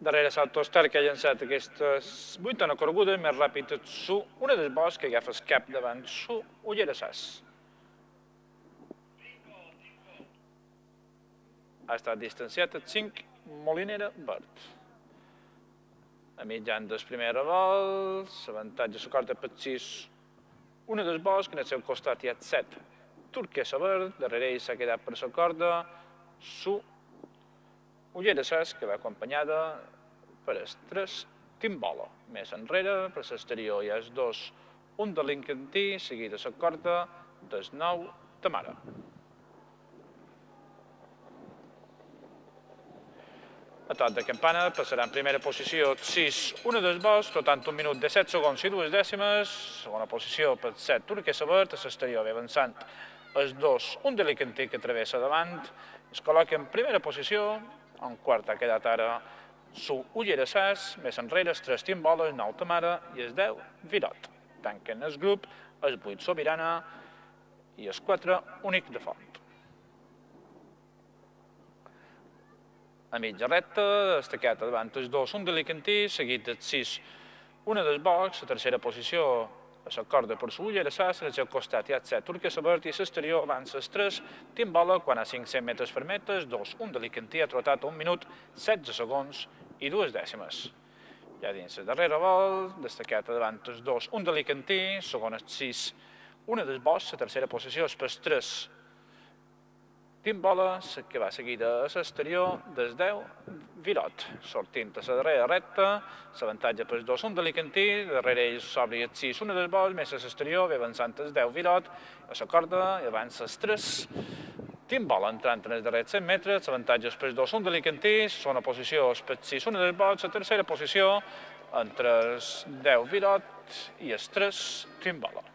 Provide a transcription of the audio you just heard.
Darrere l'Autostar que ha llançat aquestes 8 corregudes més ràpid su una del bosc que agafa el cap davant su ullera sas. Ha estat distanciat el 5 Molinera Verd. A mitjan del primer revolt, l'avantatge s'acorda per 6 una del bosc, en el seu costat hi ha 7 Turquesa Verd, darrere ell s'ha quedat per la corda su ullera sas, que va acompanyada per el 3 Timbola. Més enrere, per l'exterior hi ha el 2, un de l'Incantí, seguit de la corda del 9 Tamara. A tot de campana passarà en primera posició el 6, una del bosc, tot 1 minut de 7 segons i 2 dècimes. Segona posició per 7 Turquesa Verd, a l'exterior ve avançant el 2, un de l'Incantí que travessa davant. Es col·loca en primera posició, en quart ha quedat ara su ullera sas, més enrere el 3 Timbola, el 9 Tamara i el 10 Virot. Tanquen el grup el 8 Sobirana i el 4 Únic de Font. A mitja recta, destacat davant el 2, un de l'Incantí, seguit del 6, una del box, la tercera posició a la corda per su ullera sas, al seu costat hi ha 7 Turquesa Verd i a l'exterior avança el 3 Timbola, quan a 500 metres per metre, el 2, un de l'Incantí ha trotat 1 minut, 16 segons i 2 dècimes. Ja dins el darrere volt, destacat davant el 2, un de l'Incantí, segon el 6, una del box, la tercera posició és per 3 Timbola, que va seguida a l'exterior del 10 Virot. Sortint a la darrera recta, l'avantatge per 2, un de l'Incantí, darrere ell s'obri el 6, una del box, més a l'exterior, ve avançant el 10 Virot, a la corda i avança el 3 Timbola, entrant en els darrers 100 metres, l'avantatge és per 2, un de l'Incantí, segona posició és per 6, una del box, la tercera posició entre el 10 Virot i el 3 Timbola.